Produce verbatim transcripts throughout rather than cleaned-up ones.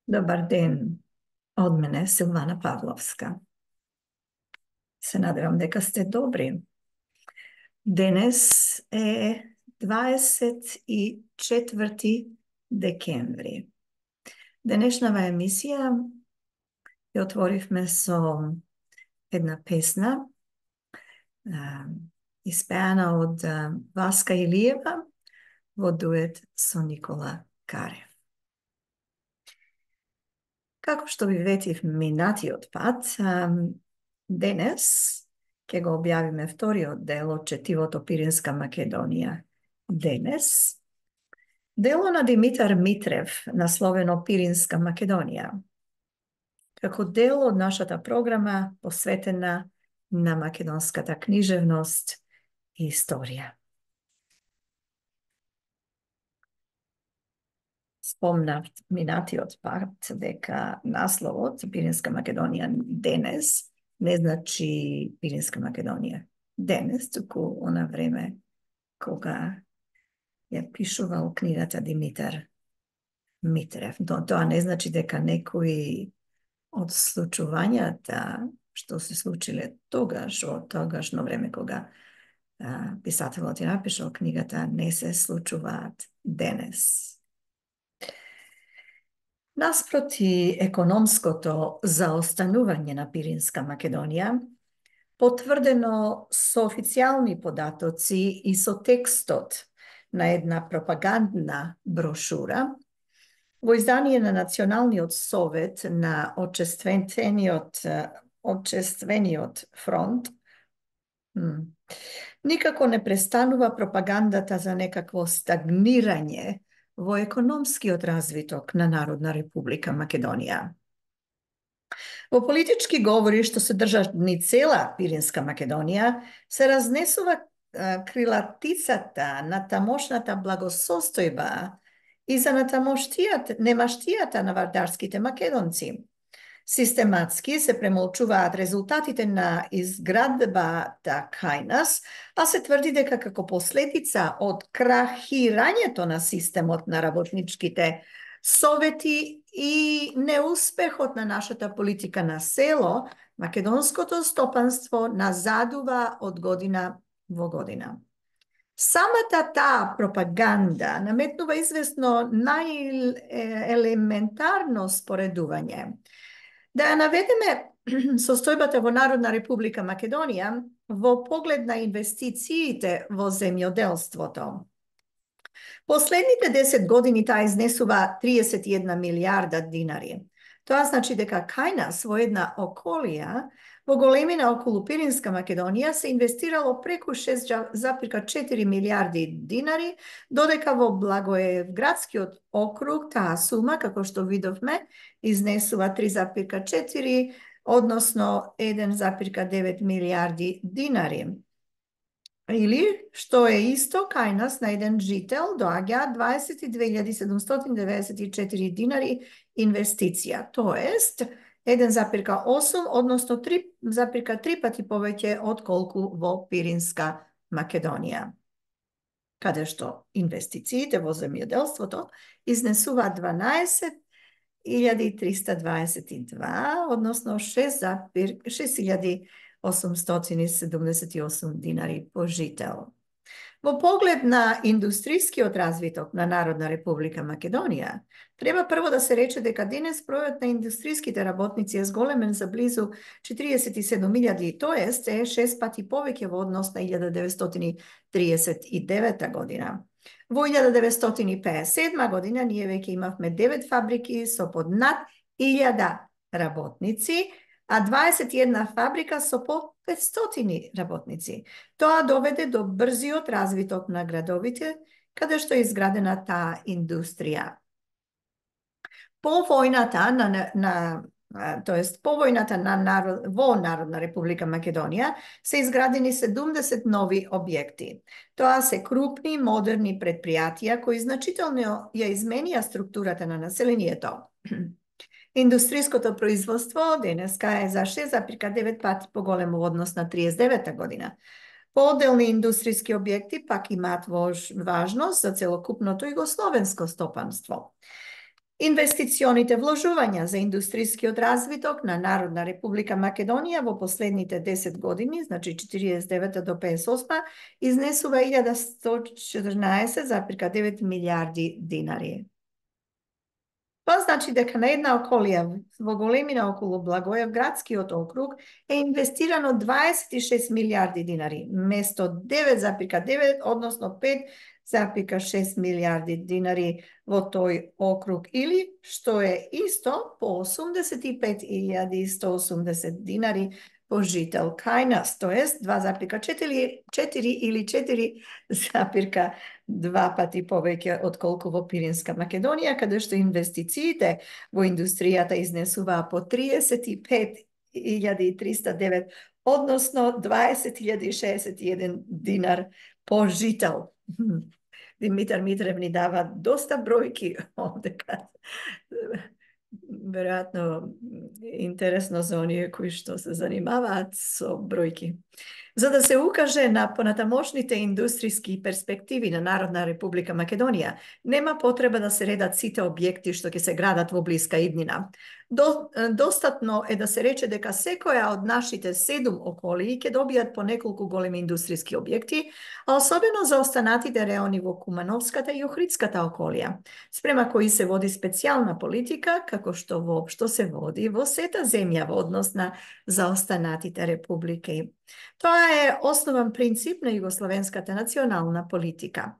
Добар ден од мене, Силвана Павловска. Се надевам дека сте добри. Денес е дваесет и четврти декември. Денешнава емисија ја отворивме со една песна, испеана од Васка Илиева во дует со Никола Карев. Како што ви ветив минатиот пат, денес ќе го објавиме вториот дел од четивото Пиринска Македонија. Денес, дело на Димитар Митрев, насловено Пиринска Македонија, како дел од нашата програма посветена на македонската книжевност и историја. Спомнав минатиот пат дека насловот Пиринска Македонија денес не значи Пиринска Македонија денес, туку она време кога ја пишувал книгата Димитар Митрев. Но тоа не значи дека некои од случувањата што се случиле тогаш, од тогашно време кога а, писателот ја напишал книгата, не се случуваат денес. Наспроти економското заостанување на Пиринска Македонија, потврдено со официјални податоци и со текстот на една пропагандна брошура, во издание на Националниот совет на Отчествениот, Отчествениот фронт, никако не престанува пропагандата за некакво стагнирање во економскиот развиток на Народна република Македонија. Во политички говори што се држат ни цела Пиринска Македонија, се разнесува крилатицата на тамошната благосостојба и за натамоштијата, немаштијата на вардарските македонци. Систематски се премолчуваат резултатите на изградбата кај нас, а се тврди дека како последица од крахирањето на системот на работничките совети и неуспехот на нашата политика на село, македонското стопанство назадува од година во година. Самата таа пропаганда наметнува известно најелементарно споредување. Да ја наведеме состојбата во Народна република Македонија во поглед на инвестициите во земјоделството. Последните десет години таа изнесува триесет и една милијарда динари. Тоа значи дека кај нас во една околија, во големина околу Пиринска Македонија се инвестирало преку шест запирка четири милијарди динари, додека во Благоевградскиот округ таа сума, како што видовме, изнесува три запирка четири, односно еден запирка девет милијарди динари. Или, што е исто, кај нас на еден жител доаѓа дваесет и две илјади седумстотини деветдесет и четири динари инвестиција, тоест еден запирка осум, односно три запирка три пати повеќе од колку во Пиринска Македонија, каде што инвестициите во земјоделството изнесуваат дванаесет илјади триста дваесет и два, односно шест илјади осумстотини седумдесет и осум динари по жител. Во поглед на индустрискиот развиток на Народна република Македонија, треба прво да се рече дека денес бројот на индустриските работници е зголемен за близу четириесет и седум илјади, тоест е шест пати повеќе во однос на илјада деветстотини триесет и девета година. Во илјада деветстотини пеесет и седма година ние веќе имавме девет фабрики со под над илјада работници, а дваесет и една фабрика со по петстотини работници. Тоа доведе до брзиот развиток на градовите, каде што е изградена таа индустрија. По војната на, на тоест по војната на народ, во Народна република Македонија се изградени седумдесет нови објекти. Тоа се крупни, модерни предпријатија кои значително ја изменија структурата на населението. Индустриското производство денеска е за шест запирка девет пати поголемо во однос на триесет и девета година. Поделни индустријски објекти пак имаат важност за целокупното југословенско стопанство. Инвестиционите вложувања за индустријскиот развиток на Народна република Македонија во последните десет години, значи четириесет и девета до песет и осма, изнесува илјада сто четрнаесет зарез девет милијарди динари. Тоа значи дека на една околија во големина околу Благоевградскиот градскиот округ е инвестирано дваесет и шест милијарди динари, место девет зарез девет, односно пет зарез шест милијарди динари во тој округ, или, што е исто, по осумдесет и пет илјади сто осумдесет динари по жител кај нас, тоест два зарез четири или четири зарез два пати повеќе отколку во Пиринска Македонија, каде што инвестициите во индустријата изнесуваа по триесет и пет илјади триста и девет, односно дваесет илјади шеесет и еден динар по жител. Димитар Митрев ни дава доста бројки овдека. Веројатно интересно за оние кои што се занимаваат со бројки. За да се укаже на понатамошните индустријски перспективи на Народна република Македонија, нема потреба да се редат сите објекти што ќе се градат во блиска иднина. До, достатно е да се рече дека секоја од нашите седум околии ќе добијат по неколку големи индустријски објекти, а особено за останатите реони во Кумановската и Охридската околија, спрема кои се води специјална политика, како што воопшто се води во сета земја во однос на заостанатите републики. Тоа е основен принцип на југословенската национална политика.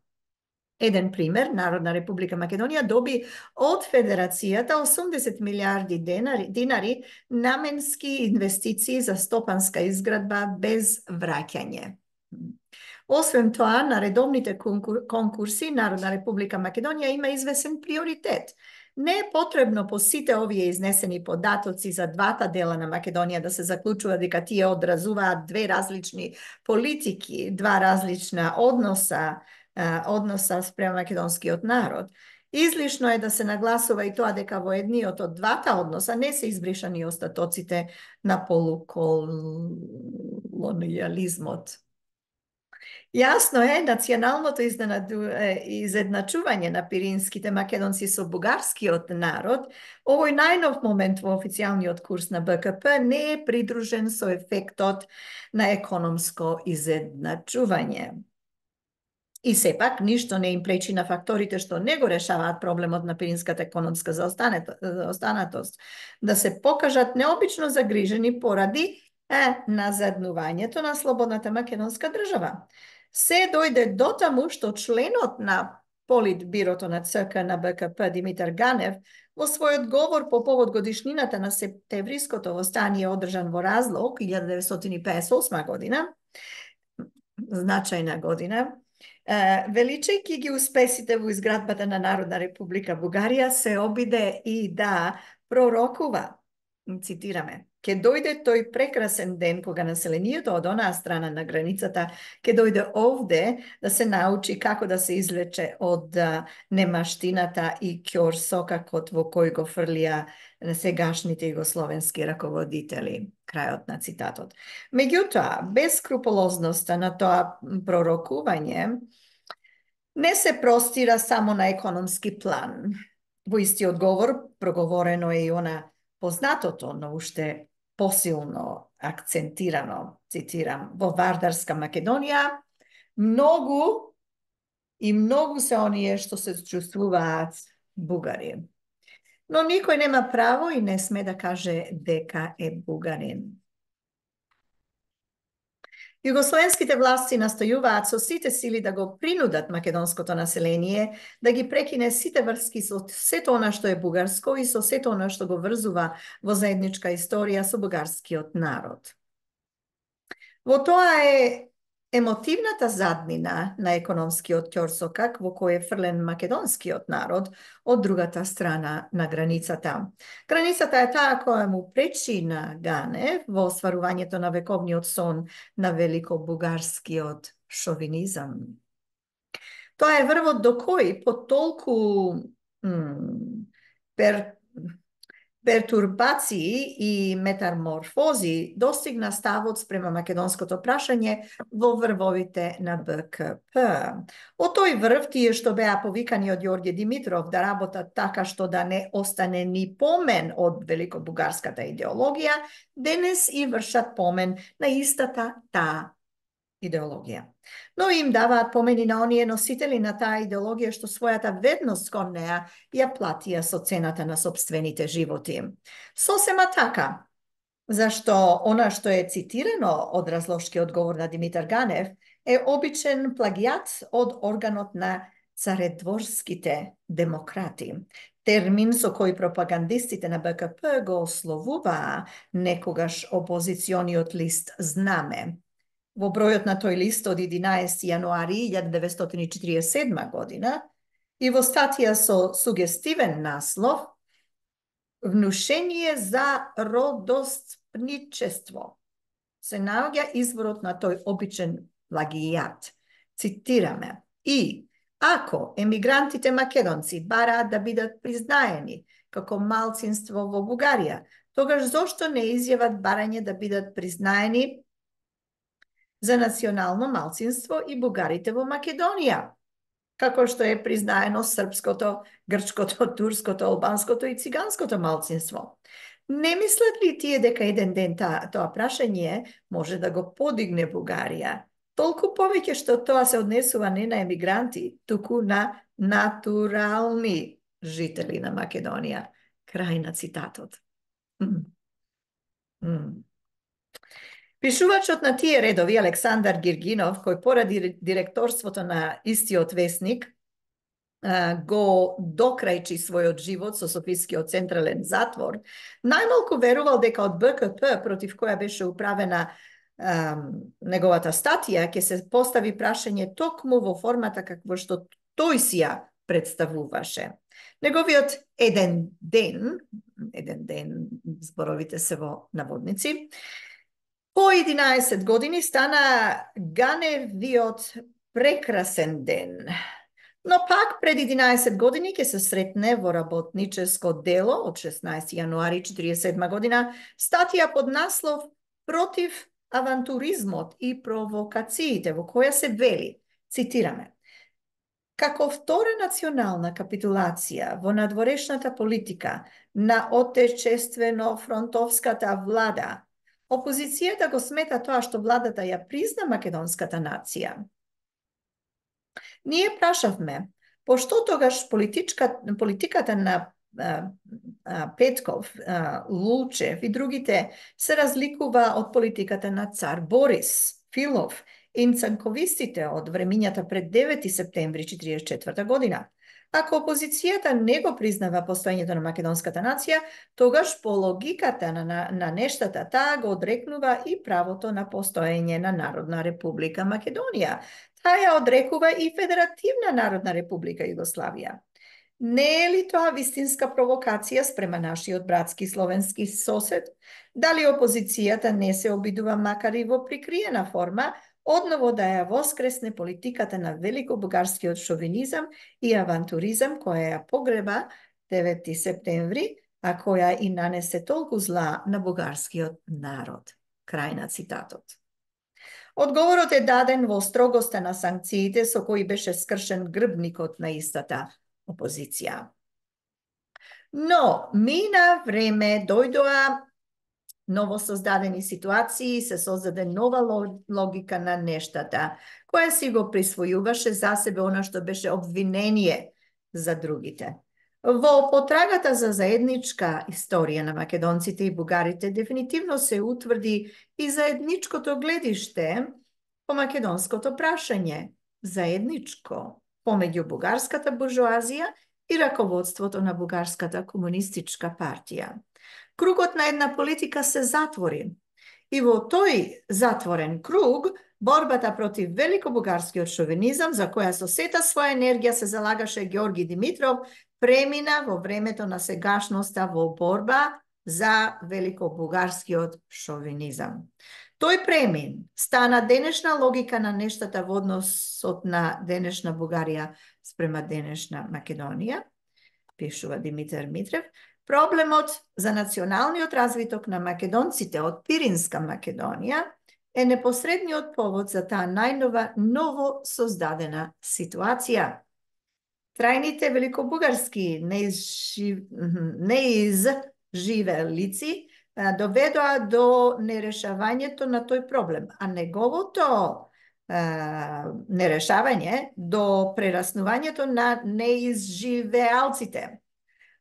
Еден пример, Народна република Македонија доби од Федерацијата осумдесет милијарди динари, динари наменски инвестиции за стопанска изградба без враќање. Освен тоа, на редовните конкурси Народна република Македонија има извесен приоритет. Не е потребно по сите овие изнесени податоци за двата дела на Македонија да се заклучува дека тие одразуваат две различни политики, два различна односа, односа спрема македонскиот народ. Излишно е да се нагласува и тоа дека во едниот од двата односа не се избришани остатоците на полуколонијализмот. Јасно е, националното изедначување на пиринските македонци со бугарскиот народ, овој најнов момент во официјалниот курс на Б К П не е придружен со ефектот на економско изедначување. И сепак, ништо не им пречи на факторите што не го решаваат проблемот на пиринската економска заостанатост, да се покажат необично загрижени поради е, назаднувањето на слободната македонска држава. Се дојде до таму што членот на Политбирото на Ц К на Б К П Димитар Ганев во својот говор по повод годишнината на септемвриското востание одржан во Разлог илјада деветстотини песет и осма година, значајна година, величајќи ги успесите во изградбата на Народна република Бугарија, се обиде и да пророкува, цитираме, ќе дојде тој прекрасен ден кога населението од онаа страна на границата ќе дојде овде да се научи како да се излече од немаштината и ќорсокакот во кој го фрлија сегашните југословенски раководители. Крајот на цитатот. Меѓутоа, без скрупулозноста на тоа пророкување не се простира само на економски план. Во истиот говор проговорено е и она познатото, но уште посилно акцентирано, цитирам, во Вардарска Македонија, многу и многу се оние што се чувствуваат бугари. Но никој нема право и не сме да каже дека е бугарин. Југословенските власти настојуваат со сите сили да го принудат македонското население да ги прекине сите врски со сето она што е бугарско и со сето она што го врзува во заедничка историја со бугарскиот народ. Во тоа е емотивната заднина на економскиот ќорсокак во кој е фрлен македонскиот народ од другата страна на границата. Границата е таа која му пречи на Ганев во остварувањето на вековниот сон на великобугарскиот шовинизам. Тоа е врвот до кој по толку пер пертурбации и метаморфози достигна ставот спрема македонското прашање во врвовите на Б К П. Од тој врв, тие што беа повикани од Ѓорѓе Димитров да работат така што да не остане ни помен од великобугарската идеологија, денес и вршат помен на истата таа идеологија. Но им даваат помени на оние носители на таа идеологија што својата ведност кон неа ја платија со цената на собствените животи. Сосема така, зашто она што е цитирано од разложкиот говор на Димитар Ганев е обичен плагијат од органот на царедворските демократи. Термин со кој пропагандистите на Б К П го ословуваа некогаш опозициониот лист Знаме. Во бројот на тој лист од единаесети јануари илјада деветстотини и четиридесет и седма година и во статија со сугестивен наслов "Внушение за родоспничество" се наоѓа изворот на тој обичен плагијат. Цитираме: "И ако емигрантите македонци бараат да бидат признаени како малцинство во Бугарија, тогаш зошто не изјават барање да бидат признаени за национално малцинство и бугарите во Македонија, како што е признаено српското, грчкото, турското, албанското и циганското малцинство? Не мислат ли тие дека еден ден та, тоа прашање може да го подигне Бугарија? Толку повеќе што тоа се однесува не на емигранти, туку на натурални жители на Македонија." Крај на цитатот. Mm. Mm. Пишувачот на тие редови, Александар Гиргинов, кој поради директорството на истиот весник го докрајчи својот живот со Софискиот централен затвор, најмалку верувал дека од Б К П, против која беше управена ам, неговата статија, ќе се постави прашање токму во формата какво што тој си ја представуваше. Неговиот еден ден, еден ден, зборовите се во наводници, по единаесет години стана Ганевиот прекрасен ден. Но пак пред единаесет години ќе се сретне во работническо дело од шеснаесети јануари четиридесет и седма година статија под наслов "Против авантуризмот и провокациите", во која се вели, цитираме: "Како втора национална капитулација во надворешната политика на отечествено-фронтовската влада, опозицијата го смета тоа што владата ја призна македонската нација. Ние прашавме, пошто тогаш политиката на а, а, Петков, а, Лучев и другите се разликува од политиката на цар Борис, Филов и цанковистите од времињата пред девети септември четиридесет и четврта година? Ако опозицијата не го признава постоењето на македонската нација, тогаш по логиката на, на, на нештата таа го одрекнува и правото на постоење на Народна република Македонија. Таа ја одрекува и Федеративна Народна република Југославија. Не е ли тоа вистинска провокација спрема нашиот братски словенски сосед? Дали опозицијата не се обидува, макар и во прикриена форма, одново да ја воскресне политиката на великобугарскиот шовинизам и авантуризам која ја погреба девети септември, а која и нанесе толку зла на бугарскиот народ? Крај на цитатот. Одговорот е даден во строгоста на санкциите со кои беше скршен грбникот на истата опозиција. Но мина време, дојдоа новосоздадени ситуации, се создаде нова логика на нештата, која си го присвојуваше за себе она што беше обвинение за другите. Во потрагата за заедничка историја на македонците и бугарите дефинитивно се утврди и заедничкото гледиште по македонското прашање, заедничко помеѓу бугарската буржоазија и раководството на бугарската комунистичка партија. Кругот на една политика се затвори и во тој затворен круг борбата против великобугарскиот шовинизам, за која со сета своја енергија се залагаше Ѓорги Димитров, премина во времето на сегашноста во борба за великобугарскиот шовинизам. Тој премин стана денешна логика на нештата во односот на денешна Бугарија спрема денешна Македонија, пишува Димитар Митрев. Проблемот за националниот развиток на македонците од Пиринска Македонија е непосредниот повод за таа најнова ново создадена ситуација. Трајните великобугарски неизживелици доведоа до нерешавањето на тој проблем, а неговото нерешавање до прераснувањето на неизживеалците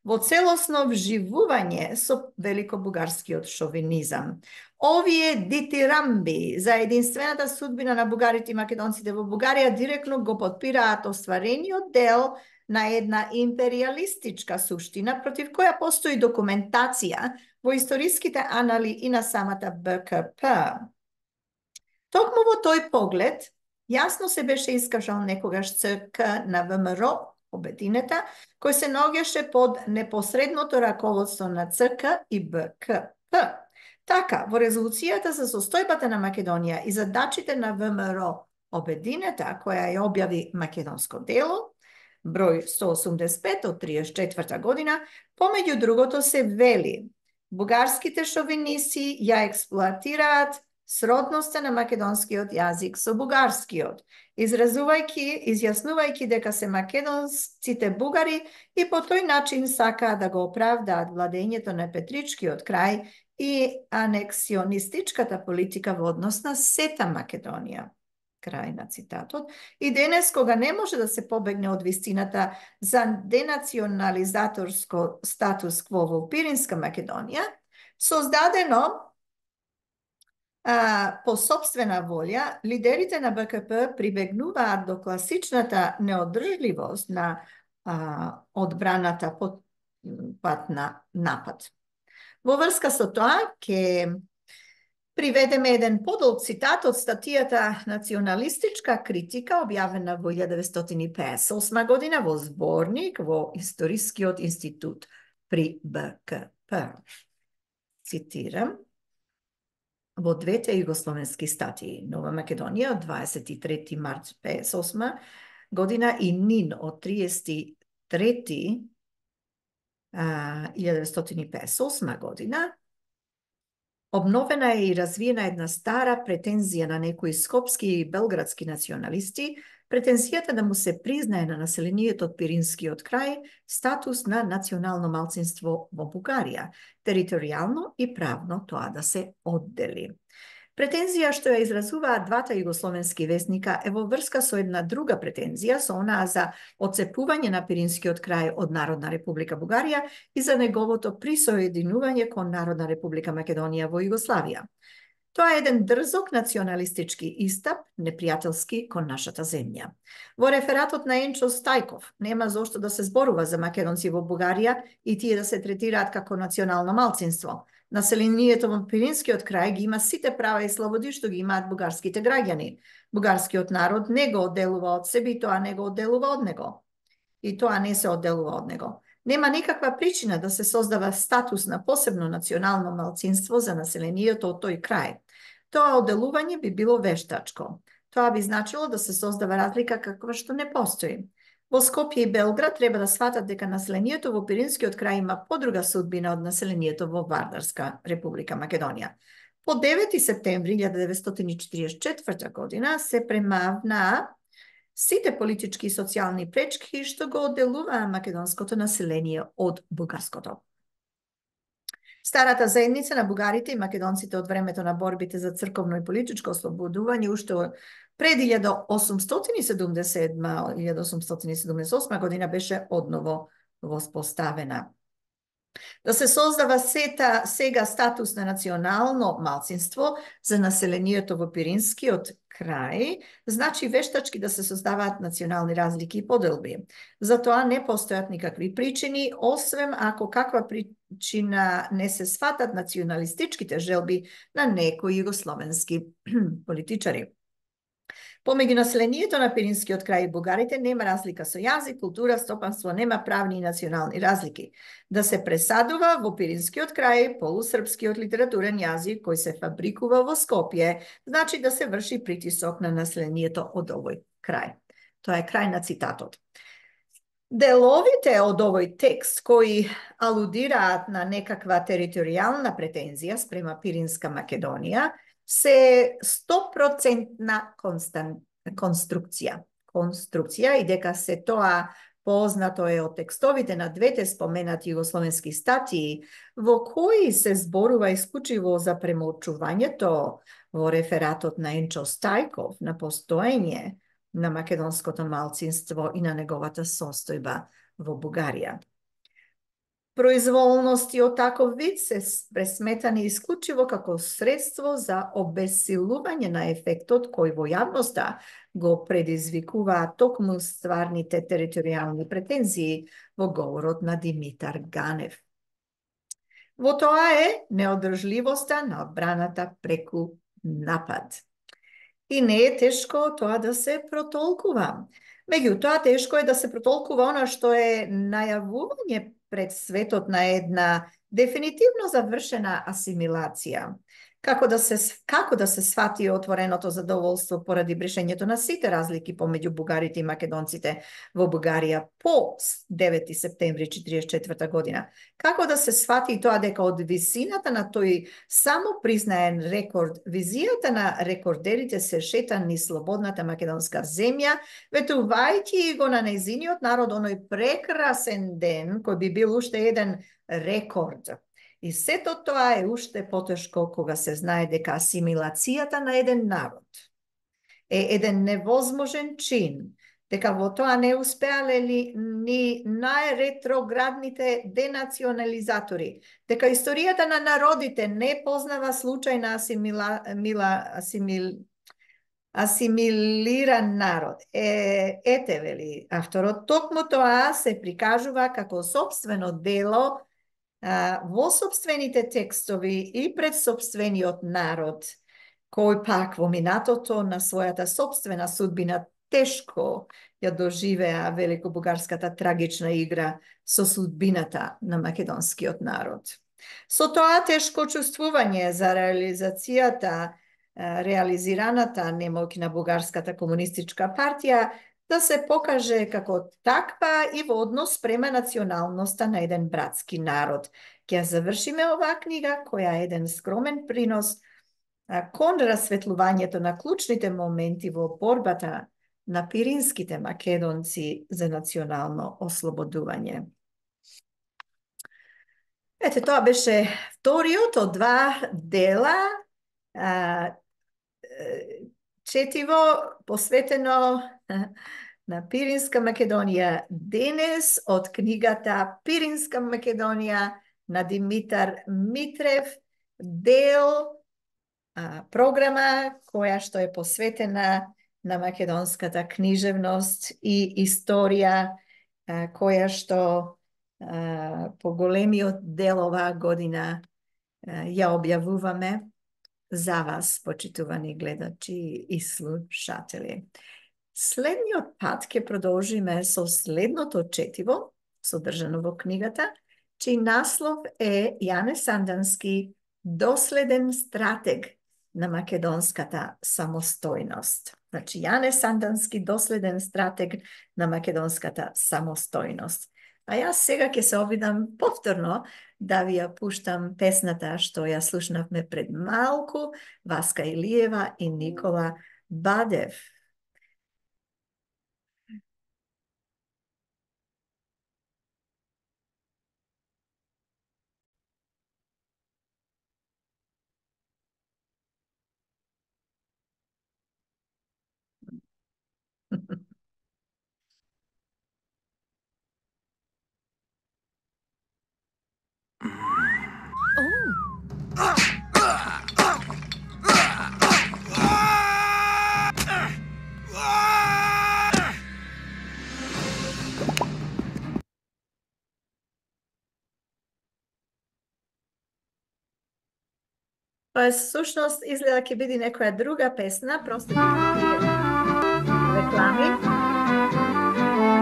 во целосно вживување со великобугарскиот шовинизам. Овие дитирамби за единствената судбина на бугарите и македонците во Бугарија директно го подпираат остварениот дел на една империалистичка суштина против која постои документација во историските анали и на самата Б К П. Токму во тој поглед, јасно се беше искажал некогаш Ц К на В М Р Обединета, кој се наоѓаше под непосредното раководство на Ц К и Б К П. Така, во резолуцијата за состојбата на Македонија и задачите на В М Р Обединета, која ја објави Македонско дело, број сто осумдесет и пет од триесет и четврта година, помеѓу другото се вели: бугарските шовиниси ја експлоатираат сродноста на македонскиот јазик со бугарскиот, изразувајќи, изјаснувајќи дека се македонците бугари и по тој начин сакаат да го оправдаат владењето на Петричкиот крај и анексионистичката политика во однос на сета Македонија. Крај на цитатот. И денес, кога не може да се побегне од вистината за денационализаторско статус кво во Пиринска Македонија, создадено а, по собствена волја, лидерите на Б К П прибегнуваат до класичната неодржливост на а, одбраната под пат на напад. Во врска со тоа, ќе приведеме еден подолг цитат од статијата «Националистичка критика», објавена во илјада деветстотини пеесет и осма година во зборник во Историскиот институт при Б К П. Цитирам, во двете југословенски статии, Нова Македонија од дваесет и трети март пеесет и осма година и Нин од триесет и трети илјада деветстотини пеесет и осма година, обновена е и развиена една стара претензија на некои скопски и белградски националисти, претензијата да му се признае на населението од Пиринскиот крај статус на национално малцинство во Бугарија, територијално и правно тоа да се оддели. Претензија што ја изразуваат двата југословенски весника е во врска со една друга претензија, со онаа за отцепување на Пиринскиот крај од Народна република Бугарија и за неговото присоединување кон Народна република Македонија во Југославија. Тоа е еден дрзок националистички истап, непријателски кон нашата земја. Во рефератот на Енчо Стајков нема зошто да се зборува за македонци во Бугарија и тие да се третираат како национално малцинство. Населението во Пиринскиот крај ги има сите права и слободи што ги имаат бугарските граѓани. Бугарскиот народ не го одделува од себе и тоа не го одделува од него. И тоа не се одделува од него. Нема никаква причина да се создава статус на посебно национално малцинство за населението од тој крај. Тоа одделување би било вештачко. Тоа би значило да се создава разлика каква што не постои. Во Скопје и Белград треба да сватат дека населението во Пиринскиот крај има подруга судбина од населението во Вардарска република Македонија. По девети септември илјада деветстотини четиридесет и четврта година се премавнаа сите политички и социјални пречки што го одделуваа македонското население од бугарското. Старата заедница на бугарите и македонците од времето на борбите за црковно и политичко ослободување уште пред илјада осумстотини седумдесет и седма - илјада осумстотини седумдесет и осма година беше одново воспоставена. Да се создава сета сега статус на национално малцинство за населението во Пиринскиот крај, значи вештачки да се создаваат национални разлики и поделби. За тоа не постојат никакви причини, освен ако каква причина не се сватат националистичките желби на некои југословенски политичари. Помеѓу населението на Пиринскиот крај и бугарите нема разлика со јазик, култура, стопанство, нема правни и национални разлики. Да се пресадува во Пиринскиот крај полусрпскиот литературен јазик кој се фабрикува во Скопје, значи да се врши притисок на населението од овој крај. Тоа е крај на цитатот. Деловите од овој текст кои алудираат на некаква територијална претензија спрема Пиринска Македонија се сто процентна конструкција. Конструкција и дека се тоа познато е од текстовите на двете споменати југословенски статии во кои се зборува исклучиво за премолчувањето во рефератот на Енчо Стајков на постоење на македонското малцинство и на неговата состојба во Бугарија. Произволности од таков вид се пресметани исклучиво како средство за обесилување на ефектот кој во јавноста го предизвикуваат токму стварните територијални претензии во говорот на Димитар Ганев. Во тоа е неодржливоста на одбраната преку напад. И не е тешко тоа да се протолкува. Меѓутоа, тешко е да се протолкува она што е најавување пред светот на една дефинитивно завршена асимилација. Како да се како да се свати отвореното задоволство поради брешењето на сите разлики помеѓу бугарите и македонците во Бугарија по девети септември четиридесет и четврта година. Како да се свати и тоа дека од висината на тој само признаен рекорд, визијата на рекордерите се шета низ слободната македонска земја, ветувајќи го на нејзиниот народ оној прекрасен ден кој би бил уште еден рекорд. И сето тоа е уште потешко кога се знае дека асимилацијата на еден народ е еден невозможен чин, дека во тоа не успеале ли ни најретроградните денационализатори, дека историјата на народите не познава случајна асимила, мила, асимил, асимилиран народ. Е, ете, вели авторот, токму тоа се прикажува како собствено дело во собствените текстови и пред собствениот народ, кој пак во минатото на својата собствена судбина тешко ја доживеа великобугарската трагична игра со судбината на македонскиот народ. Со тоа тешко чувствување за реализацијата, реализираната немоќ на бугарската комунистичка партија да се покаже како таква и во однос према националноста на еден братски народ. Ќе завршиме оваа книга, која е еден скромен принос кон расветлувањето на клучните моменти во борбата на пиринските македонци за национално ослободување. Ете, тоа беше вториот од два дела, четиво посветено на Пиринска Македонија денес од книгата Пиринска Македонија на Димитар Митрев, дел а, програма која што е посветена на македонската книжевност и историја, а, која што а, по големиот дел оваа година а, ја објавуваме за вас, почитувани гледачи и слушатели. Следниот пат ќе продолжиме со следното четиво, содржано во книгата, чиј наслов е Јане Сандански, доследен стратег на македонската самостојност. Значи, Јане Сандански, доследен стратег на македонската самостојност. А јас сега ќе се обидам повторно да ви ја пуштам песната што ја слушнавме пред малку, Васка Илиева и Никола Бадев. Па сушност изгледа ќе биде некоја друга песна, просто реклами.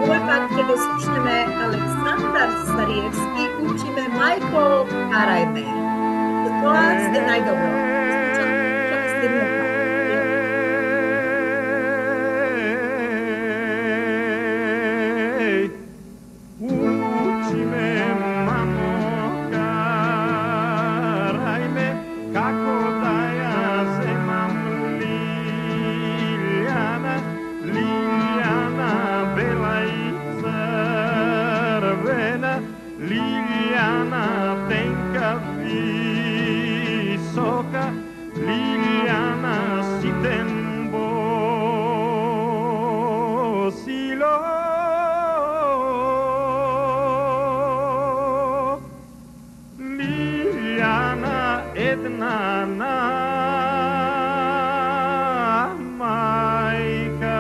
Овој пат ќе го слушнеме Александар Стариевски, учиме мајко, карај ме. За тоа сте најдобро. Слушам следниот пат. Зелена Лилјана, тенка, висока, Лилјана, ситен босилок. Лилјана, една на мајка.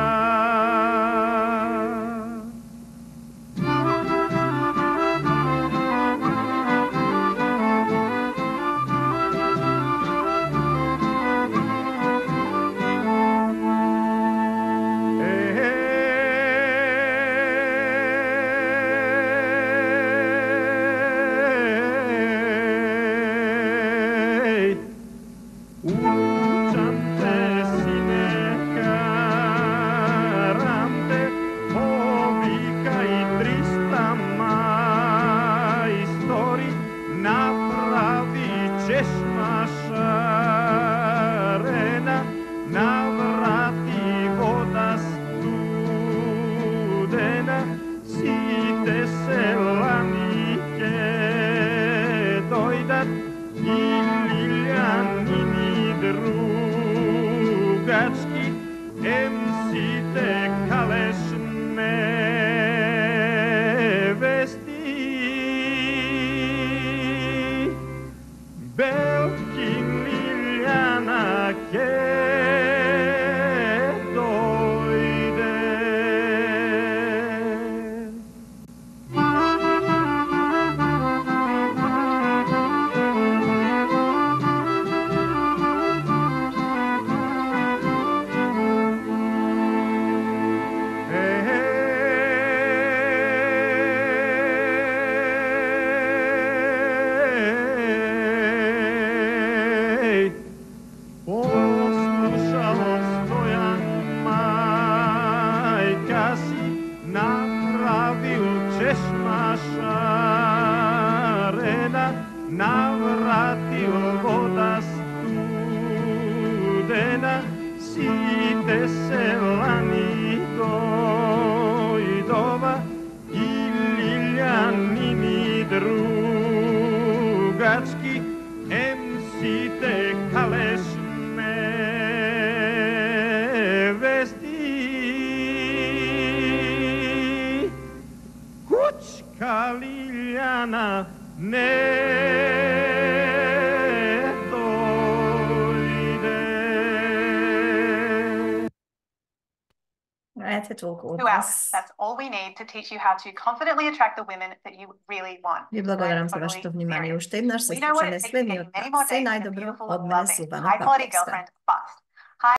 Толку Two hours. That's all we need to teach you how to confidently attract the women that you really want. Ви благодарам за вашето внимание. Уште еднаш се слушаме следниот пат. Се најдобро од мене, Силвана Павловска.